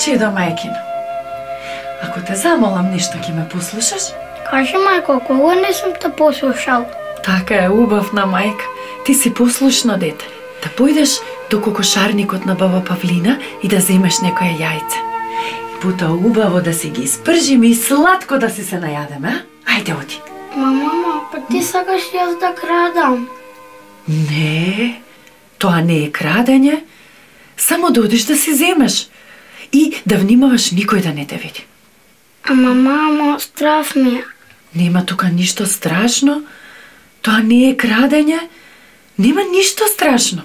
Чедо мајкино, ако те замолам нешто, ќе ме послушаш? Кажи, мајко, кога не сум те послушал? Така е, убавна мајка. Ти си послушно дете. Да појдеш до кокошарникот на баба Павлина и да земеш некое јајце. И потоа убаво да си ги испржиме и сладко да си се најадеме, а? Ајде, оди. Мама, па ти сакаш јас да крадам? Не, тоа не е крадење. Само да одиш да си земеш. И да внимаваш никој да не те види. Ама, мамо, страв ми е. Нема тука ништо страшно. Тоа не е крадење. Нема ништо страшно.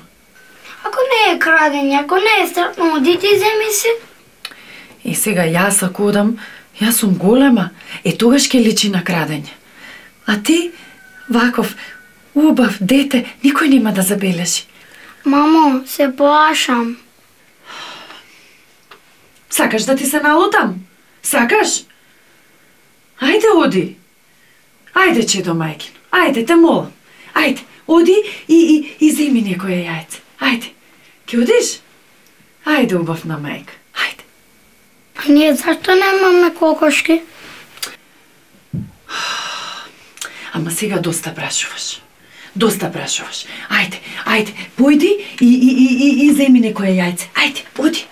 Ако не е крадење, ако не е страшно, оди ти земи си. И сега јас ако одам, јас сум голема, тогаш ќе личи на крадење. А ти, ваков, убав дете, никој нема да забележи. Мамо, се плашам. Сакаш да ти се налутам? Сакаш? Ајде, оди. Ајде, чедо мајкино. Ајде, те молам. Ајде, оди и земи некое јајце. Ајде. Ќе одиш? Ајде, убавна мајка. Ајде. А ние зашто немаме кокошки? Ама сега доста прашуваш. Доста прашуваш. Ајде, појди и земи некое јајце. Ајде, оди.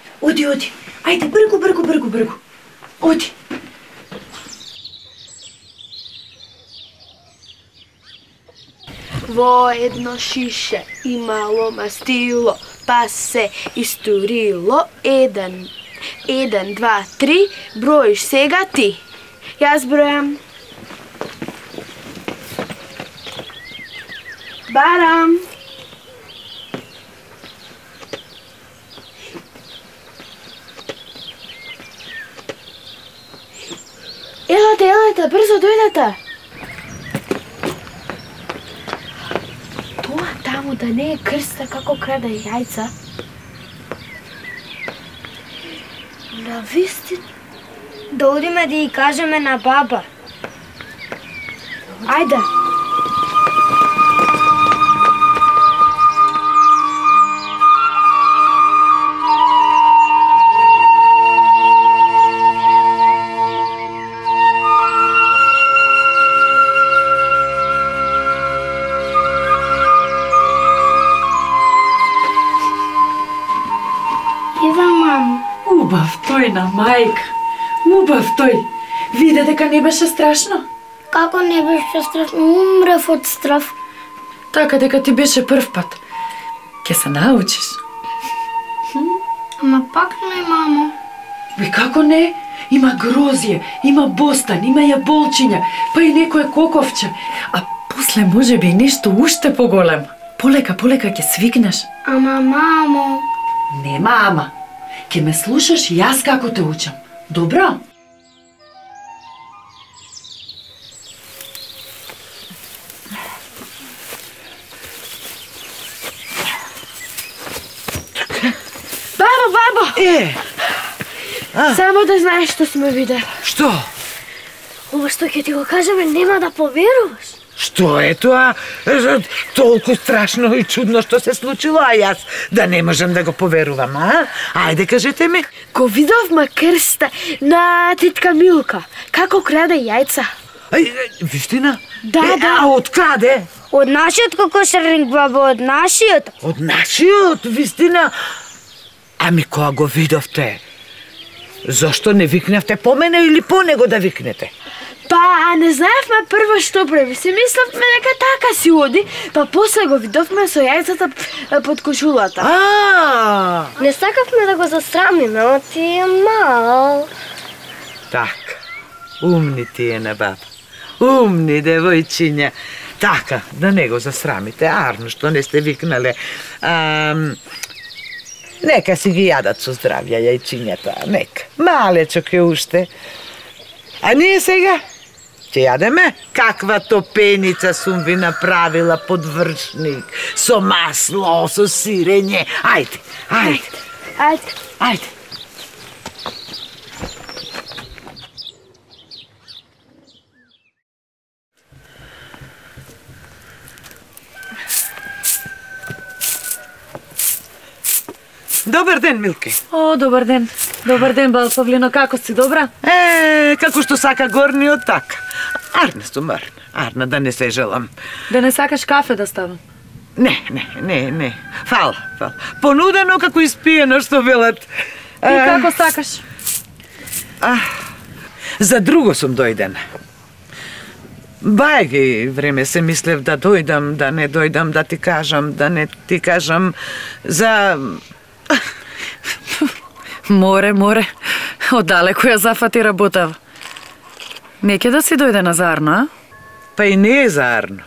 Ајде, бргу. Оди. Во едно шише имало мастило, па се истурило. 1, 2, 3, броиш сега ти. Јас бројам. Барам. Елате, брзо дојдете. Тоа таму да не е крста како краде јајца? Навистина. Да одиме да ја кажеме на баба. Ајде. Убав тој на мајка. Убав тој. Виде дека не беше страшно? Како не беше страшно? Умрев од страв. Така дека ти беше прв пат. Ке се научиш. Ама пак не, мамо. Бе, како не? Има грозје, има бостан, има јаболчиња, па и некое коковче. А после може би нешто уште поголемо. Полека ќе свикнеш. Ама, мамо. Нема ама. Ке ме слушаш јас како те учам. Добро? Бабо! Само да знаеш што сме видели. Што? Ова што ќе ти го кажеме нема да поверуваш. Што е тоа? Толку страшно и чудно што се случило, а јас да не можам да го поверувам, а? Ајде, кажете ми. Го видовме крста на тетка Милка, како краде јајца. Вистина? Да. А од каде? Од нашиот кокошарник, бабо, од нашиот. Од нашиот, вистина? Ами кога го видовте? Зошто не викнавте по мене или по него да викнете? Па, не знаевме прво што прави. Си мислевме дека така си оди, па после го видовме со јајцата под кошулата. Не сакавме да го засрамиме, но ти е мал. Така, умни ти е на баба. Умни девојчиња. Така, да не го засрамите, арно што не сте викнале. Нека си ги јадат со здравје јајчињата, нека. Малечок е уште. А ние сега ќе јадеме? Каква топеница сум ви направила под вршник, со масло, со сирење. Ајде. Добар ден, Милке. О, добар ден. Добар ден, бал Павлино, како си, добра? Како што сака горниот, така. Арна сум, арна, да не се желам. Да не сакаш кафе да ставам? Не. Фала. Понудено како испиено, што велат. И како сакаш? За друго сум дојдена. Бајги време се мислев да дојдам, да не дојдам, да ти кажам, да не ти кажам за... Море. Оддалеку ја зафати работава. Не ке да си дојде на Зарно, а? Па и не е за Арно.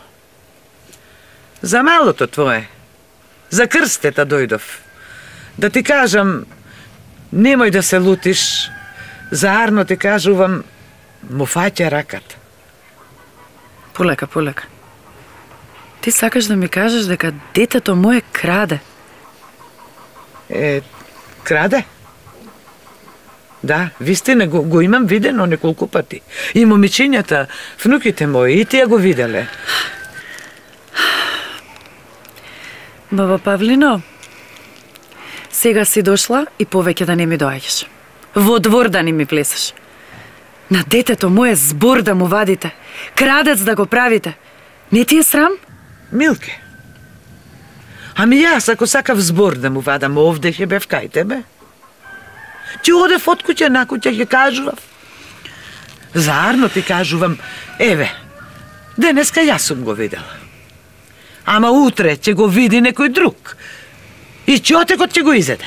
За малото твое. За крстета дојдов. Да ти кажам, немој да се лутиш. За Арно ти кажувам, му фаќа раката. Полека. Ти сакаш да ми кажеш дека детето мое краде? Краде? Да, вистина, го имам видено неколку пати. И момичињата, внуките мои, и тие го виделе. Баба Павлино, сега си дошла и повеќе да не ми доаѓаш. Во двор да не ми плесаш. На детето мое збор да му вадите. Крадец да го правите. Не ти е срам? Милке, ами јас ако сакав збор да му вадам овде, ќе бев кај тебе. Ти одев од куќа на куќа, ќе кажував. За Арно ти кажувам, еве, денеска јас сум го видела. Ама утре ќе го види некој друг. И чотекот ќе го изеде.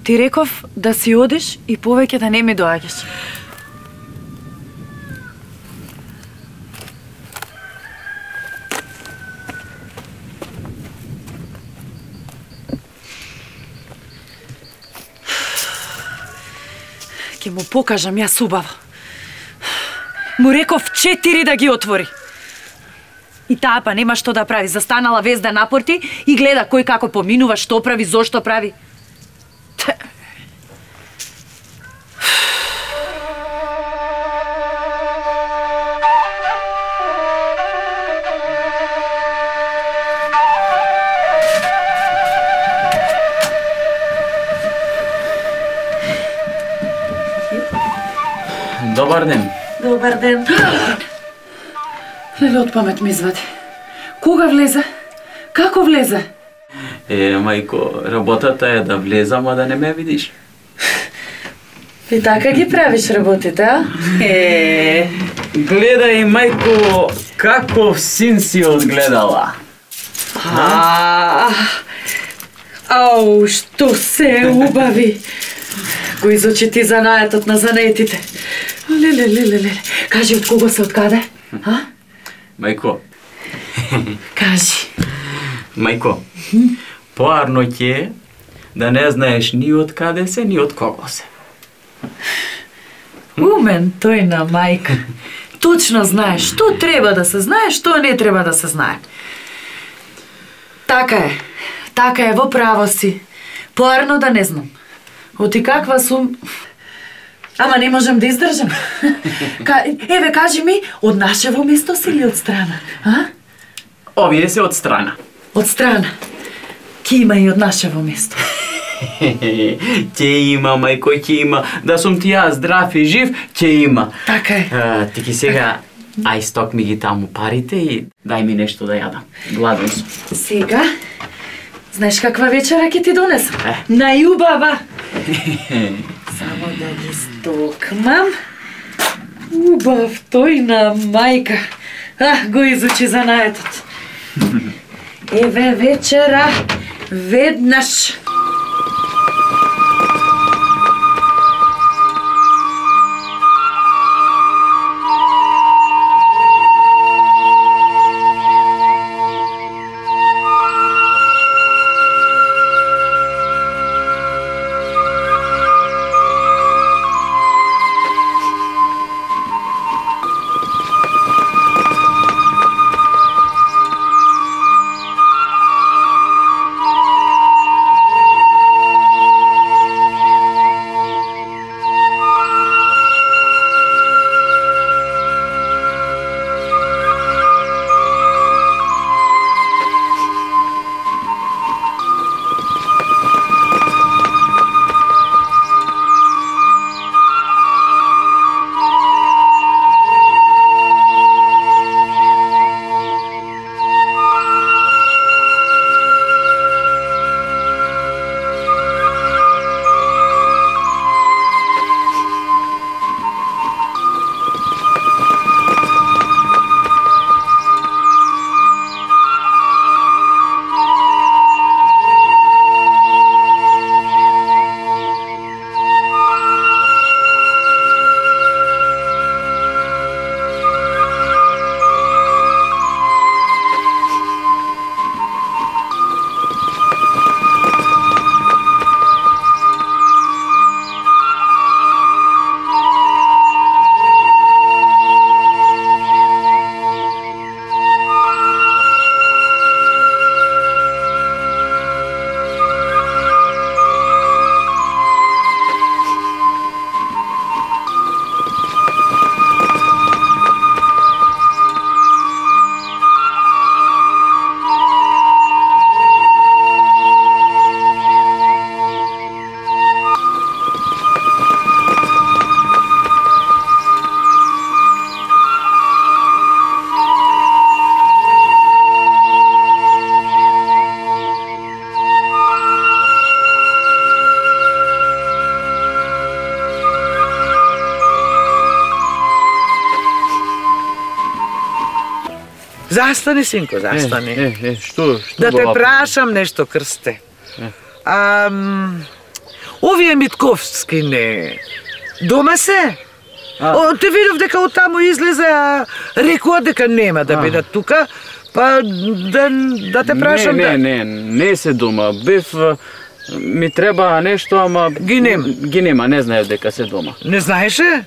Ти реков да си одиш и повеќе да не ми доаѓаш. Ке му покажам јас убаво. Му реков 4 да ги отвори. И таа па нема што да прави. Застанала везда напорти и гледа кој како поминува, што прави, зошто прави. Добар ден. Добар ден. Леле, од памет ми извади. Кога влезе? Како влезе? Мајко, работата е да влезам, а да не ме видиш. И така ги правиш работите, а? Гледај, мајко, каков син си одгледала. Ау, што се убави. Го изучи ти занаетот на занаетите. Леле. Кажи, од кого се, од каде? Мајко. Кажи. Мајко, поарно ќе е да не знаеш ни од каде се, ни од кого се. Умен тој на мајка. Точно знаеш што треба да се знае, што не треба да се знае. Така е, во право си. Поарно да не знам. Оти каква сум... Ама не можам да издржам. Еве, кажи ми, од нашево место си или од страна? Овие се од страна. Од страна. Ке има и од нашево место. Ќе има, мајко, ќе има. Да сум ти јас здрав и жив, ќе има. Така е. Ти ки сега, ај сток ми ги таму парите и дај ми нешто да јадам. Гладен сум. Сега, знаеш каква вечера ќе ти донесам? Најубава. Само да ги стокмам. Убав тој на мајка. Го изучи занаетот. Еве вечера, веднаш. Застани, синко, застани. Што Да те баба? прашам нешто, Крсте. Овие Митковски не... Дома се? Те видов дека од таму излезе, а рекоа дека нема да бидат тука, па да те прашам Не се дома. Бев ми треба нешто, ама Ги нема. Ги нема, не знаев дека се дома. Не знаеше?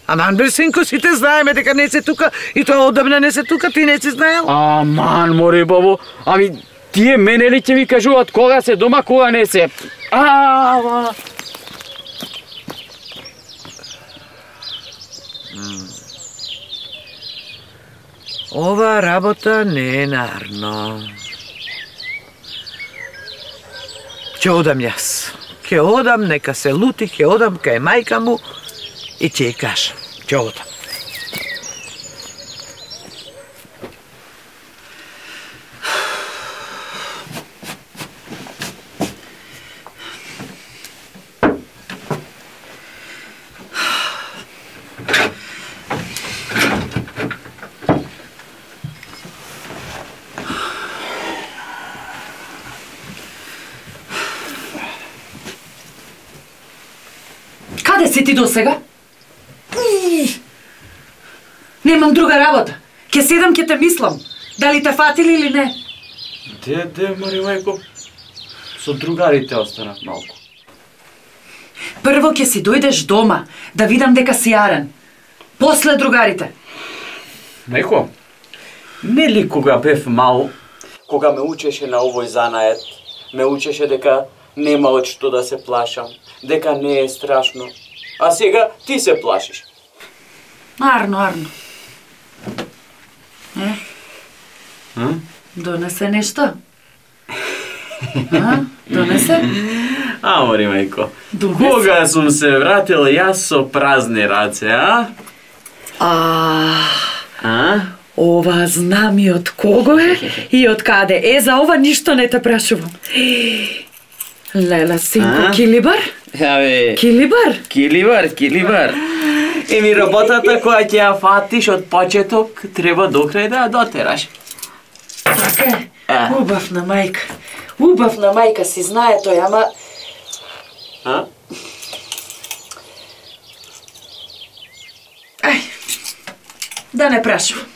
Аман бе, синко, сите знаеме дека не се тука и тоа одамна не се тука, ти не си знаел? Аман, мори бабо, ами тие мене ли ќе ми кажуваат кога се дома, кога не се? Ова работа не е нарно. Ќе одам јас. Ќе одам, нека се лути, ќе одам кај мајка му и ќе ја кажам. Ќе одам. Каде си ти досега? Немам друга работа. Ке седам, ке те мислам. Дали те фатили или не? Де, Мари мајко, со другарите останав малку. Прво ке си дојдеш дома, да видам дека си јарен. После другарите. Мајко, нели кога бев мал, кога ме учеше на овој занает, ме учеше дека нема од што да се плашам, дека не е страшно. А сега ти се плашиш. Арно. Донесе нешто? Донесе? Мари мајко, Донесе. кога сум се вратил јас со празни раце, Ова знам и од кого е и од каде. За ова ништо не те прашувам. Лела, синко, килибар? Килибар. Еми работата која ќе ја фатиш од почеток, треба до крај да ја дотераш. Така е. Убавна мајка си знае тој, ама... Да не прашувам.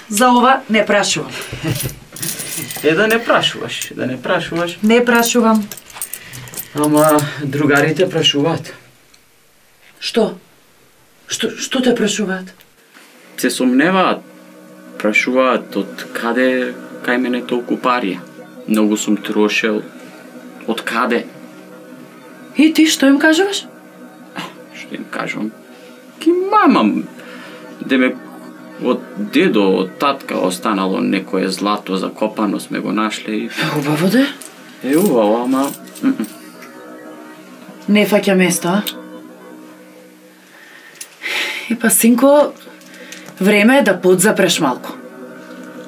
За ова не прашувам. Да не прашуваш. Не прашувам. Ама другарите прашуваат. Што? Што те прашуваат? Се сомневаат. Прашуваат од каде кај мене толку пари. Многу сум трошел. Од каде? И ти што им кажуваш? Што им кажувам? Ки мамам. Деме од дедо, од татка останало некое злато закопано, сме го нашле и... Убаво да? Убаво, ама... Не фаќа место, а? И па, синко, време е да подзапреш малку.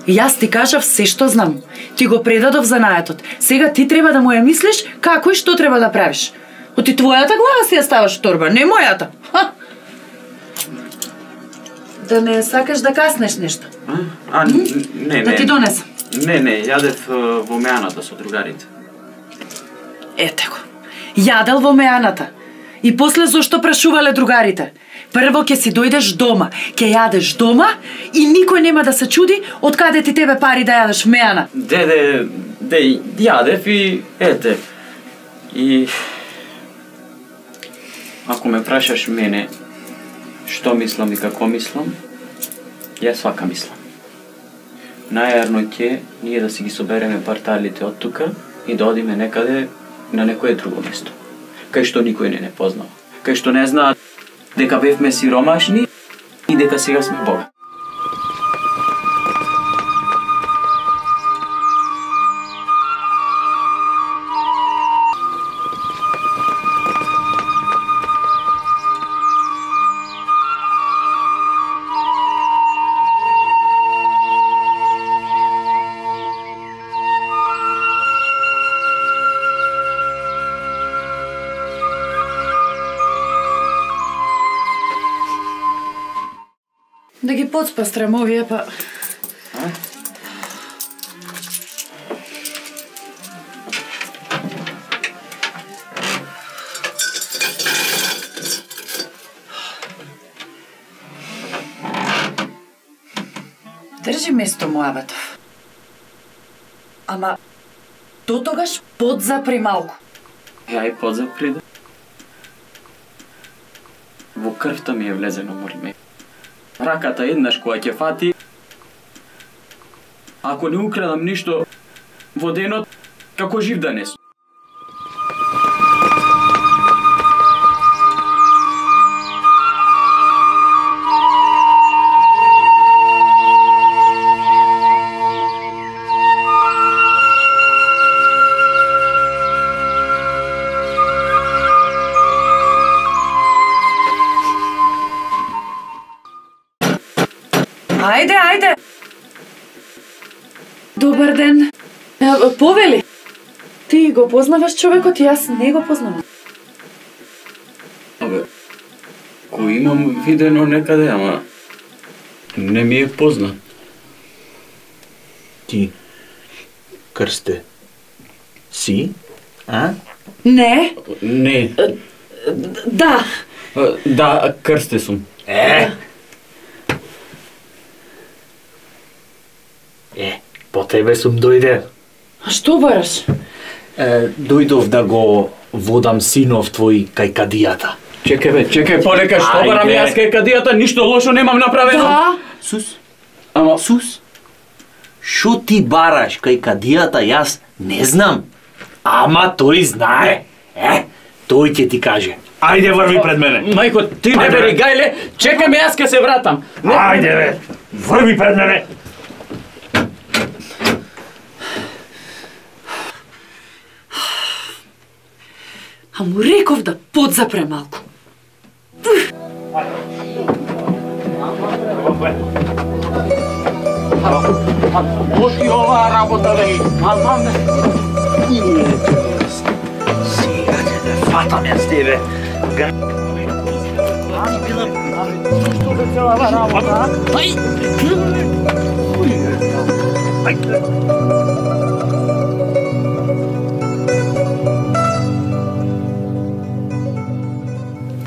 Јас ти кажав се што знам. Ти го предадов занаетот. Сега ти треба да му ја мислиш како и што треба да правиш. Оти твојата глава си ја ставаш в торба, не мојата. Да не сакаш да каснеш нешто. Не. Да ти донесам. Не, јадев во меаната со другарите. Ете го. Јадел во меаната. И после зошто прашувале другарите? Прво ќе си дојдеш дома, ќе јадеш дома и никој нема да се чуди од каде ти тебе пари да јадеш меана. Деде, јадев и ете. И ако ме прашаш мене што мислам и како мислам, јас вака мислам. Најарно ќе ние да си ги собереме парталите од тука и да одиме некаде на некое друго место, кај што никој не познава, кај што не знаат дека бевме сиромашни и дека сега сме богати. Да ги подспастрам овие, па Држи место Муабатов. Ама, дотогаш подзапри малку. Ја и подзапри да. Во крвта ми е влезено морме. Раката еднаш која ќе фати, ако не украдам ништо во денот, како жив да не сум. Ајде. Добар ден. Повели. Ти го познаваш човекот и јас не го познавам. Абе, го имам видено некаде, ама не ми е познат. Ти, Крсте, си, а? Не. Не. Да. Да, Крсте сум. По тебе сум дојде. А што бараш? Дојдов да го водам синов твој кај кадијата. Чекај, полека, што барам Ајде. јас кај кадијата, ништо лошо немам направено. Да. Сус, Ама, Сус, шо ти бараш кај кадијата, јас не знам. Ама тој знае. Тој ќе ти каже. Ајде, врви пред мене. мајко, ти не Ајде, бери бе. гајле, чекај ме, јас ке се вратам. Ајде, бе, врви пред мене. А му реков да подзапре малку. Лоши оваа работа, бе. Сега ќе те фатам јас тебе.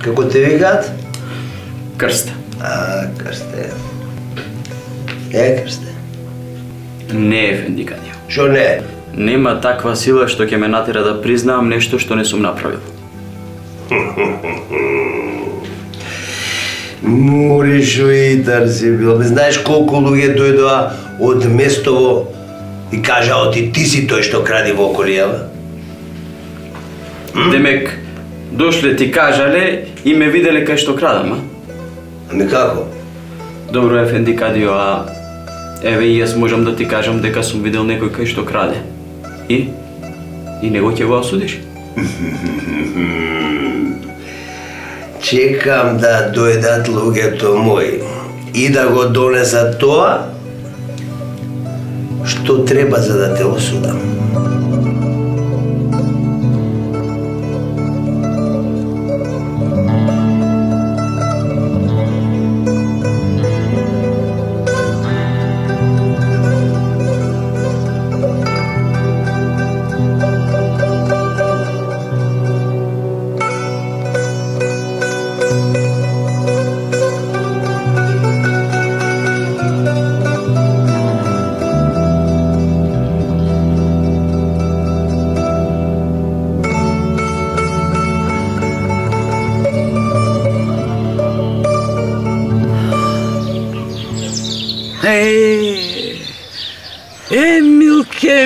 Како те викаат? Крсте. Крсте. Крсте. Не е Ефендикадија. Шо не? Нема таква сила што ќе ме натера да признаам нешто што не сум направил. Муришо и тарси бил. Знаеш колку луѓе дојдоа од Место и кажа ти си тој што кради во околијава? Демек, дошле ти кажале и ме виделе кај што крадам, а? Ами како? Добро, Ефендикадио, а еве и јас можам да ти кажам дека сум видел некој кај што краде. И него ќе го осудиш? Чекам да дојдат луѓето мои и да го донесат тоа што треба за да те осудам.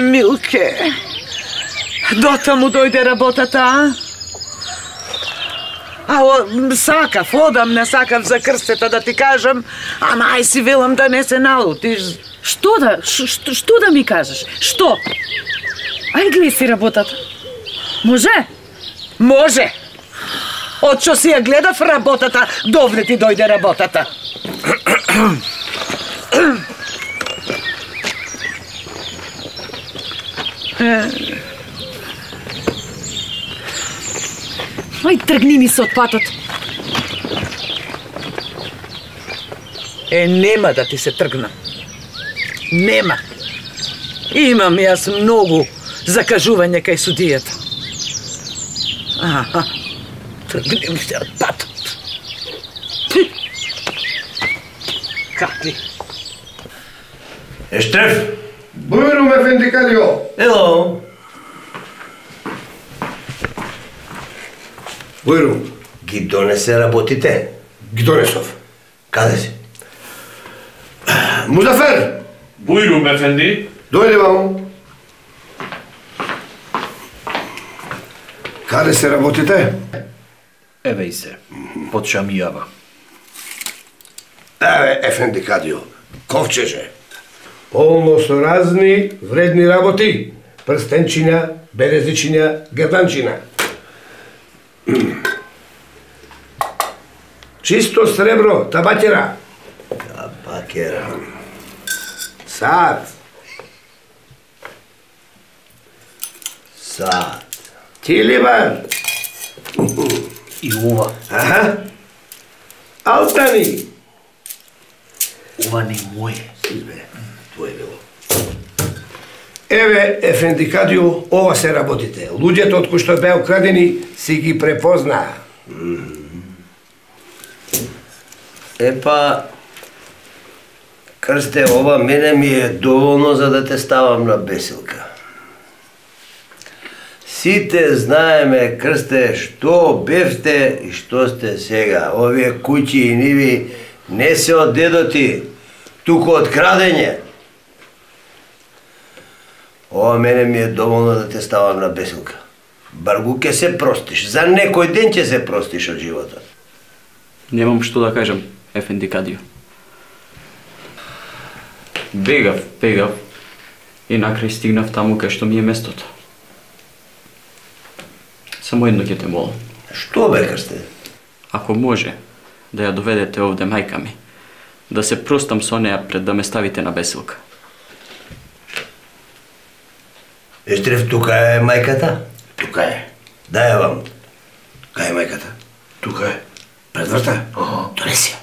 Милке. Дотаму дојде работата, сакав, одам, не сакав за крстета да ти кажам, ама ај си велам да не се налутиш. Што да ми кажеш? Што? Ај гледай си работата. Може? Може. Од што си ја гледав работата, довне ти дојде работата. Ај, тргни ми се од патот. Нема да ти се тргнам. Нема. Имам јас многу закажување кај судијата. Тргни ми се од патот. Какви? Ештреф! Бујрум ефенди Кадио! Ело! Бујрум! Ги донесе работите? Ги донесов. Каде си? Музафер! Бујрум, ефенди. Дојде ваму. Каде се работите? Еве и се, под шамијава. Еве, ефенди Кадио, ковчеже. Полно со разни вредни работи. Прстенчиња, березичиња, герданчина. Чисто сребро, табакера. Табакера. Сад. Сад. Тилибар. И ова. Аха. Алтани. Ова не моје. Избе, твој било. Еве, ефенди Кадио, ова се работите. Луѓето од кои што беа украдени си ги препознаа. Епа, Крсте, ова мене ми е доволно за да те ставам на бесилка. Сите знаеме, Крсте, што бевте и што сте сега. Овие куќи и ниви не се од дедо ти, туку од крадење. Ова мене ми е доволно да те ставам на бесилка. Баргу ќе се простиш, за некој ден ќе се простиш од животот. Немам што да кажам, ефенди Кадио. Бегав и накрај стигнав таму кај што ми е местото. Само едно ќе те молам. Што бе, Крсте? Ако може да ја доведете овде мајка ми, да се простам со неа пред да ме ставите на бесилка. Ештреф, тука е мајката? Тука е. Дај ја вам. Кај е мајката? Тука е. Пред врата? Донеси ја.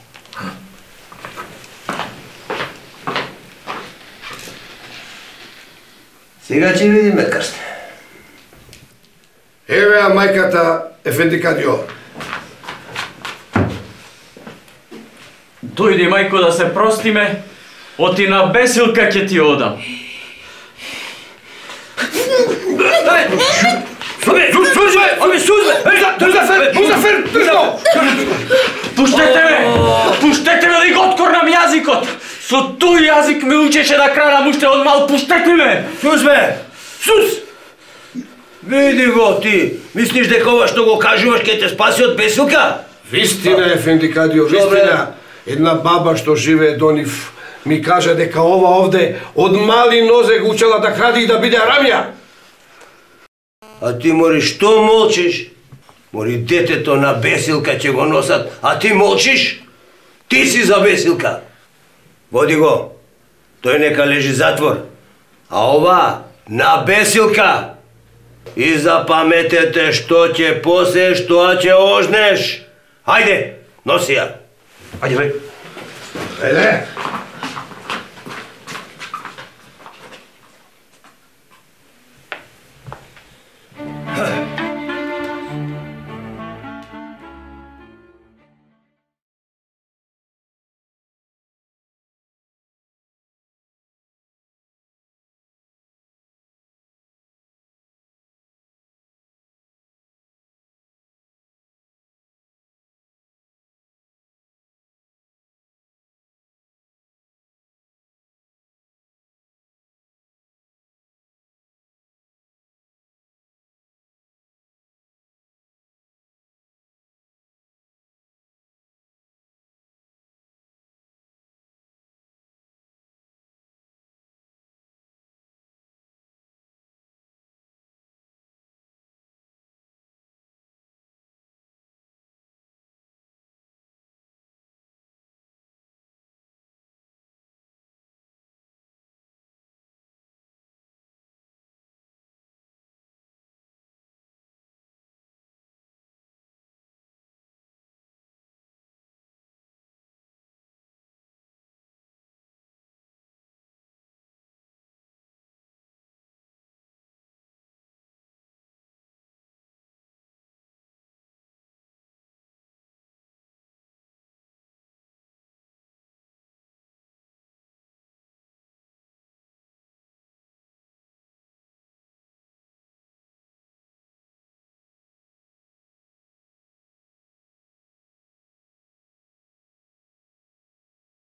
Сега ќе видиме, Крсте. Еве ја мајката, ефенди Кадио. Дојди, мајко, да се простиме, оти на бесилка ќе ти одам. Пуштете ме! Пуштете ме да го откорнам јазикот! Со тој јазик ме учеше да крадам уште од мал, пуштете ме! Сус бе! Сус! Види го ти, мислиш дека ова што го кажуваш ќе те спаси од бесилка? Вистина, ефенди Кадио, вистина. Една баба што живее до нив ми кажа дека ова овде од мали нозе го учела да кради и да биде арамја. А ти мори што молчиш? Мори детето на бесилка ќе го носат, а ти молчиш? Ти си за бесилка. Води го. Тој нека лежи затвор. А ова на бесилка. И запаметете што ќе посееш, тоа ќе ожнеш. Ајде, носи ја. Ајде, бе. Ајде.